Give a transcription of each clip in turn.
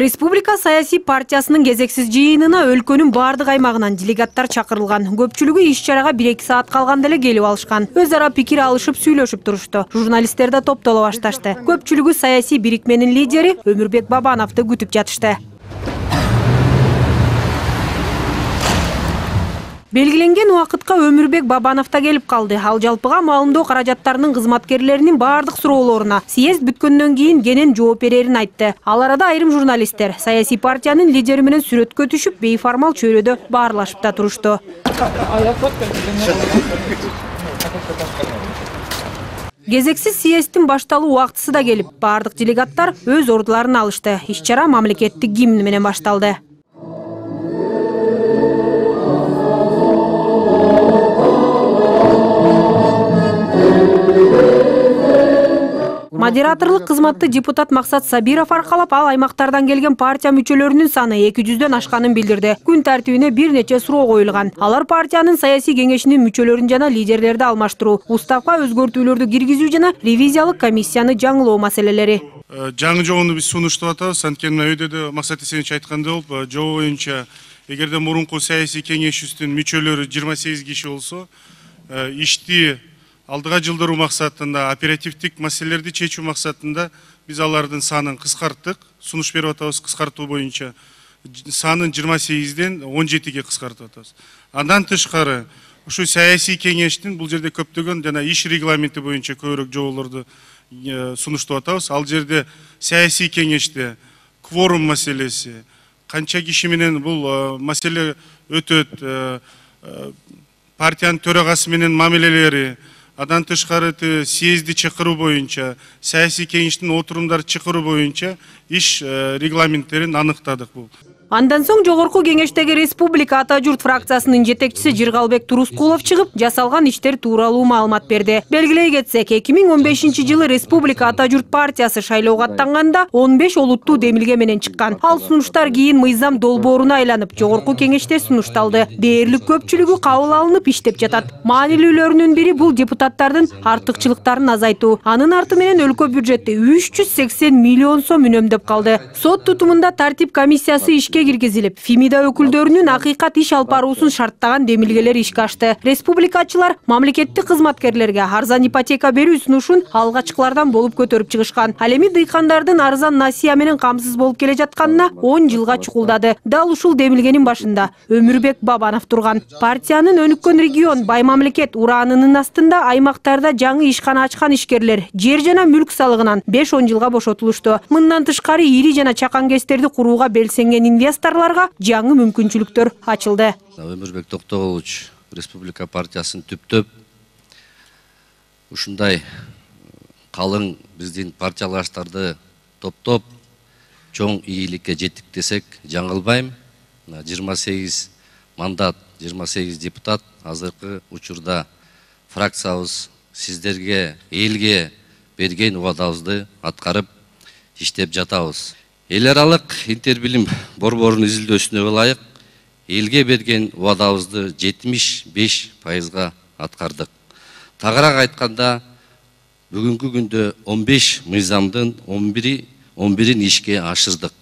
Республика саясий партиясынын кезексиз жыйынына өлкөнүн бардык аймагынан делегаттар чакырылган. Көпчүлүгү иш-чарага 1-2 саат калганда эле келип алышкан. Өз ара пикир алышып сүйлөшүп турушту. Журналисттер да топтоло башташты. Көпчүлүгү саясий бирикменин лидери Өмүрбек Бабановду күтүп жатышты. Белгиленген убакытка Өмүрбек Бабанов да келип калды. Ал жалпыга маалымдоо каражаттарынын кызматкерлеринин бардык суроолоруна съезд бүткөндөн кийин кенен жооп берерин айтты. Ал арада айрым журналисттер саясий партиянын лидери менен сүрөткө түшүп, бейформал чөйрөдө баарлашып да турушту. Кезексиз съезддин башталуу убактысы да келип, бардык делегаттар өз ордуларын алышты. Иш-чара мамлекеттик гимн менен башталды. Модераторлук кызматты депутат Максат Сабиров аркалап, ал аймактардан келген партия мүчөлөрүнүн саны 200дөн ашканын билдирди. Күн тартибине бир нече суроо коюлган. Алар партиянын саясий кеңешинин мүчөлөрүн жана лидерлерди алмаштыруу, уставка өзгөртүүлөрдү киргизүү жана ревизиялык комиссияны жаңылоо маселелери. Жаңы жобону биз сунуштап атабыз. Анткени өйдө Максат Эсенович айткандай болуп, жобо боюнча эгерде мурунку саясий кеңешибиздин мүчөлөрү 28 киши болсо, ишти алдыга жылдыруу максатында, оперативдик маселелерди чечүү максатында биз алардын санын кыскарттык. Сунуш берип атабыз кыскартуу боюнча санын 28ден 17ге кыскартып атабыз. Андан тышкары ушу саясий кеңештин бул жерде көптөгөн жана иш регламенти боюнча көбүрөөк жоболорду сунуштап атабыз. Ал жерде саясий кеңеште кворум маселеси, канча киши менен бул маселе өтөт, партиянын төрагасы менен мамилелери, адан тышкары съезди чакыруу боюнча, саясий кеңештин отурумдарды чакыруу боюнча иш регламенттерин аныктадык бул. Андан соң жогорку кеңештеги Республика Ата журт фракциясынын жетекчиси Жыргалбек Турускулов чыгып, жасалган иштер тууралуу маалымат берди. Белгилей кетсек, 2015 жылы Республика Ата журт партиясы шайлоого аттанганда 15 олуттуу демилге менен чыккан. Ал сунуштар кийин мыйзам долбооруна айланып, жогорку кеңеште сунушталды. Дээрлик көпчүлүгү кабыл алынып иштеп жатат. Маанилүүлөрүнүн бири бул депутаттардын артыкчылыктарын азайтуу. Анын арты менен өлкө бюджети 380 миллион сом үнөмдөп калды. Сот тутумунда тартип комиссиясы ишке киргизилип, ФИМИДа өкүлдөрүнүн акыйкат иш алып баруусун шарттаган демилгелер ишке ашты. Республикачылар мамлекеттик кызматкерлерге арзан ипотека берүү сунушун алгачкылардан болуп көтөрүп чыгышкан. Ал эми дыйкандардын арзан насыя менен камсыз болуп келе жатканына 10 жылга чукулдады. Дал ушул демилгенин башында Өмүрбек Бабанов турган. Партиянын өнүккөн регион бай мамлекет ураанынын астында аймактарда жаңы ишкана ачкан ишкерлер жер жана мүлк салыгынан 5-10 жылга бошотулушту. Мындан тышкары ири жана чакан кестерди курууга белсенген инвесторлорго жаңы мүмкүнчүлүктөр ачылды. Өмүрбек Токтогулович Республика партиясын түптөп ушундай калың биздин партиялаштарды топтоп чоң ийгиликке жеттик десек жаңылбайм. 28 мандат, 28 депутат азыркы учурда фракциябыз сиздерге, элге берген убадабызды аткарып иштеп жатабыз. Эл аралык интербилим борборунун изилдөөсүнө ылайык элге берген убадабызды 75% аткардык. Тагыраак айтканда, бүгүнкү күндө 15 мыйзамдын 11-ин ишке ашырдык.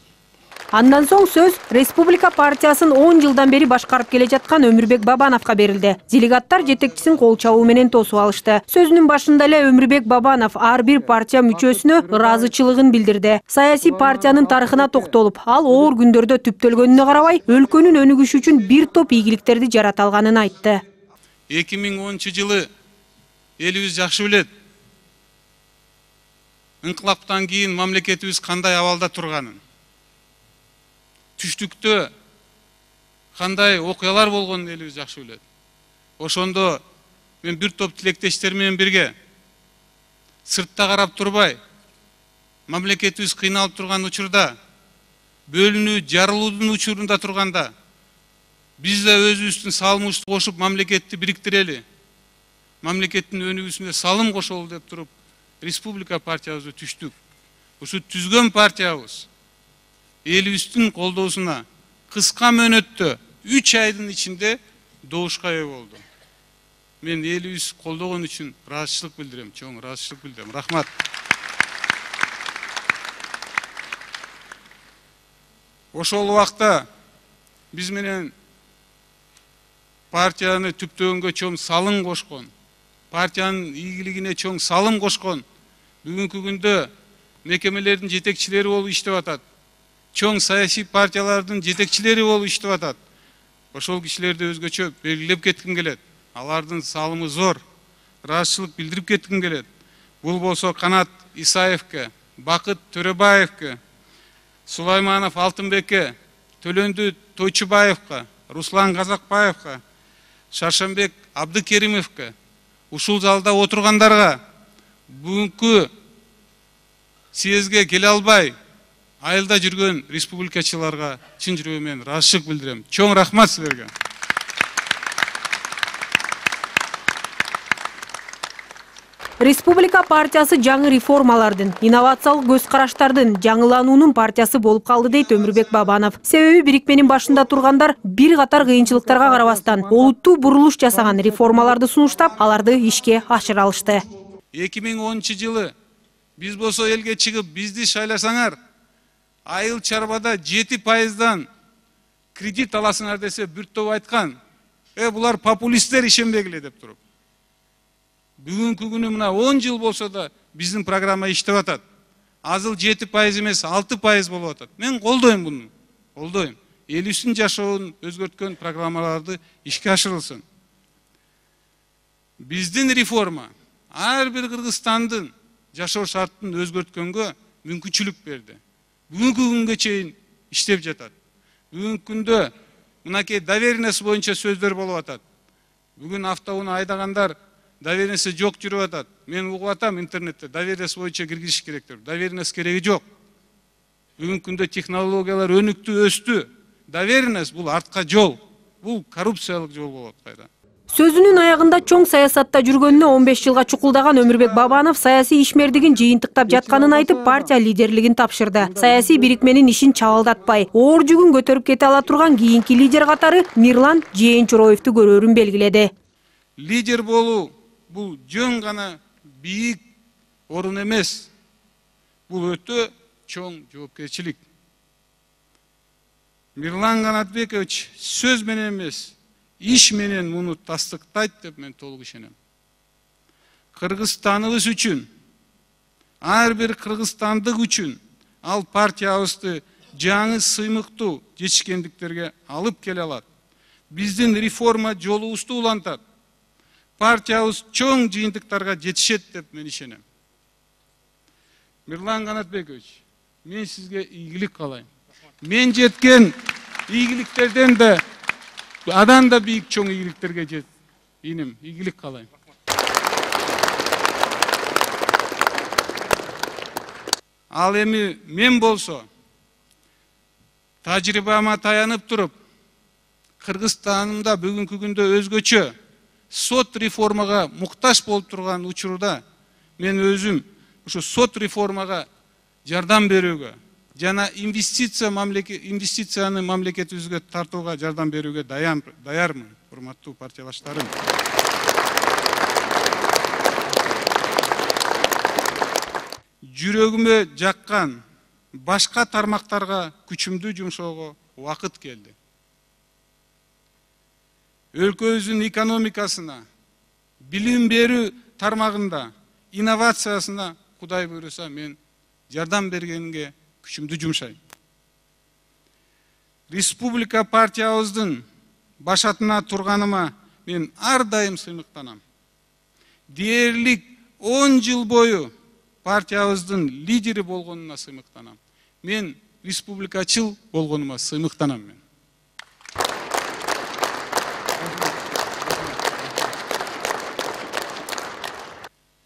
Андан соң сөз Республика партиясын 10 жылдан бери башкарып келе жаткан Өмүрбек Бабановго берилди. Делегаттар жетекчисин кол чабуу менен тосуп алышты. Сөзүнүн башында эле Өмүрбек Бабанов ар бир партия мүчөсүнө ыраазычылыгын билдирди. Саясий партиянын тарыхына токтолуп, ал оор күндөрдө түптөлгөнүнө карабай, өлкөнүн өнүгүшү үчүн бир топ ийгиликтерди жарата алганын айтты. 2010 жылы элибиз жакшы билет. Инкылаптан кийин мамлекетибиз кандай абалда турганын. Түштүктө кандай окуялар болгонун элибиз жакшы билет. Ошондо мен бир топ тилектештер менен бирге сыртта карап турбай, мамлекетибиз кыйналып турган учурда, бөлүнүү, жарылуудун учурунда турганда, биз да өзүбүздүн салымыбызды кошуп мамлекетти бириктирели, мамлекеттин өнүгүүсүнө салым кошолу деп туруп, Республика партиябызды түштүк. Ушу түзгөн партиябыз элибиздин колдоосуна кыска мөөнөттө 3 айдын ичинде добушка ээ болду. Мен элибиз колдогон үчүн ыраазычылык билдирем, чоң ыраазычылык билдирем. Рахмат. ошол убакта биз менен партияны түптөгөнгө чоң салым кошкон, партиянын ийгилигине чоң салым кошкон, бүгүнкү күндө мекемелердин жетекчилери болуп иштеп атат, чоң саясий партиялардын жетекчилери болуп иштеп атат. Ошол кишилерди өзгөчө белгилеп кетким келет. Алардын салымы зор, ыраазычылык билдирип кетким келет. Бул болсо Канат Исаевке, Бакыт Төрөбаевке, Сулайманов Алтынбекке, Төлөндү Тойчубаевка, Руслан Казакбаевка, Шаршембек Абдыкеримовке, ушул залда отургандарга, бүгүнкү съезге келе албай айылда жүргөн республикачыларга чын жүрөгүмөн ыраазычылык билдирем. Чоң рахмат силерге. Республика партиясы жаңы реформалардын, инновациялык көз караштардын, жаңылануунун партиясы болуп калды дейт Өмүрбек Бабанов. Себеби бирикменин башында тургандар бир катар кыйынчылыктарга карабастан олуттуу бурулуш жасаган реформаларды сунуштап, аларды ишке ашыра алышты. 2010-жылы биз болсо элге чыгып бизди шайласаңар, айыл чарбада 7%дан кредит аласыңар десе бир топ айткан. Булар популисттер ишенбегиле деп туруп. Бүгүнкү күнү мына 10 жыл болсо да биздин программа иштеп атат. Азыл 7% эмес 6% болуп атат. Мен колдойм буну. Колдойм. Элибиздин жашоонун өзгөрткөн программаларды ишке ашырылсын. Биздин реформа ар бир кыргызстандын жашоо шартын өзгөрткөнгө мүмкүнчүлүк берди. Бүгүнкү күнгө чейин иштеп жатат. Бүгүнкү күндө мынакей доверенность боюнча сөздөр болуп атат. Бүгүн автоунаа айдагандар доверенности жок жүрүп атат. Мен угуп атам интернетте доверенность боюнча киргизиш керек деп. Доверенность кереги жок. Бүгүнкү күндө технологиялар өнүктү, өстү. Доверенность бул артка жол. Бул коррупциялык жол болот кайда. Сөзүнүн аягында чоң саясатта жүргөнүнө 15 жылга чукулдаган Өмүрбек Бабанов саясий ишмердигин жыйынтыктап жатканын айтып, партия лидерлигин тапшырды. Саясий бирикменин ишин чабалдатпай, оор жүгүн көтөрүп кете ала турган кийинки лидер катары Мирлан Жээнчуроевду көрөрүн белгиледи. Лидер болуу бул жөн гана бийик орун эмес. Бул өтө чоң жоопкерчилик. Мирлан Канатбекович сөз менен эмес, иш менен муну тастыктайт деп мен толук ишенем. Кыргызстаныбыз үчүн, ар бир кыргызстандык үчүн ал партиябызды жаңы сыймыктуу жетишкендиктерге алып келе алат. Биздин реформа жолубузду улантат. Партиябыз чоң жыйынтыктарга жетишет деп мен ишенем. Мирлан Канатбекович, мен сизге ийгилик каалайм. Мен жеткен ийгиликтерден да адан да бийик чоң ийгиликтерге жет. Иним, ийгилик каалайм. Ал эми мен болсо тажрыйбама таянып туруп, Кыргызстанымда бүгүнкү күндө өзгөчө сот реформага муктаж болуп турган учурда мен өзүм ушу сот реформага жардам берүүгө жана инвестицияны мамлекетибизге тартууга жардам берүүгө даярмын, урматтуу партиялаштарым. Жүрөгүмө жаккан башка тармактарга күчүмдү жумшоого убакыт келди. Өлкөбүздүн экономикасына, билим берүү тармагында, инновациясына Кудай буйруса мен жардам бергенге күчүмдү жумшайм. Республика партиябыздын башатына турганыма мен ар дайым сыймыктанам. Дээрлик 10 жыл бою партиябыздын лидери болгонуна сыймыктанам. Мен республикачыл болгонума сыймыктанам мен.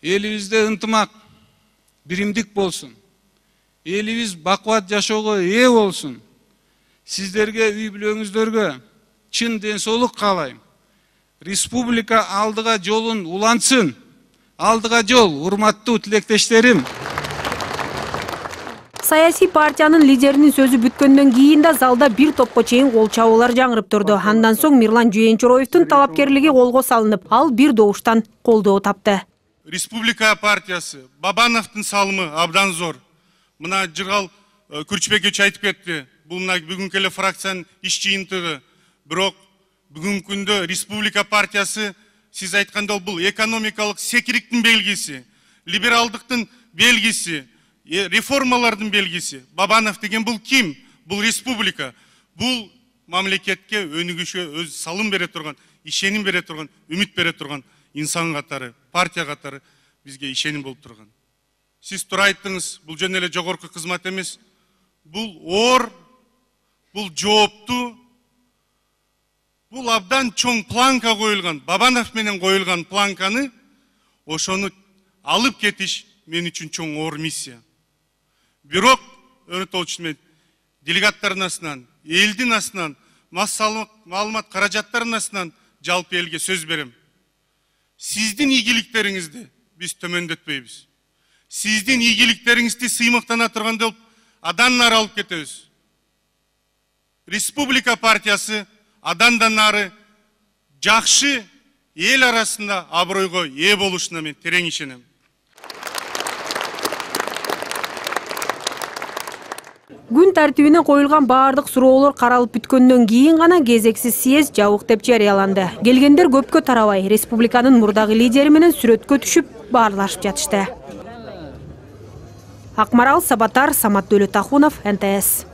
Элибизде ынтымак, биримдик болсун. Элибиз бакубат жашоого ээ болсун. Сиздерге, үй бүлөңүздөргө чын ден соолук каалайм. Республика алдыга жолун улантсын. Алдыга жол, урматтуу тилектештерим. Саясий партиянын лидеринин сөзү бүткөндөн кийин да залда бир топко чейин кол чабуулар жаңырып турду. Андан соң Мирлан Жээнчуроевдун талапкерлиги колго салынып, ал бир добуштан колдоо тапты. Республика партиясы, Бабановдун салымы абдан зор. Мына Жыргал Күрчбекович айтып кетти. бул мына бүгүнкү эле фракциянын иш жыйынтыгы. Бирок бүгүнкү күндө Республика партиясы сиз айткандай бул экономикалык секириктин белгиси, либералдыктын белгиси, реформалардын белгиси. Бабанов деген бул ким? Бул республика. Бул мамлекетке өнүгүшкө өз салым бере турган, ишеним бере турган, үмүт бере турган инсан катары, партия катары бизге ишеним болуп турган. Сиз туура айттыңыз, бул жөн эле жогорку кызмат эмес. Бул оор, бул жооптуу, бул абдан чоң планка коюлган, Бабанов менен коюлган планканы ошону алып кетиш мен үчүн чоң оор миссия. Бирок, Өрөтович мен делегаттардын астынан, элдин астынан, маалымат каражаттарынын астынан жалпы элге сөз берем. Сиздин ийгиликтериңизди биз төмөндөтпөйбүз. Сиздин ийгиликтериңизди сыймыктана тургандай болуп, адан нары алып кетебиз. Республика партиясы адандан нары жакшы эл арасында абройго ээ болушуна мен терең ишенем. Күн тартибине коюлган баардык суроолор каралып бүткөндөн кийин гана кезексиз съезд жабык деп жарыяланды. Келгендер көпкө тарабай республиканын мурдагы лидери менен сүрөткө түшүп баарлашып жатышты. Акмарал Сабатар, Самат Дөлөтахунов, НТС.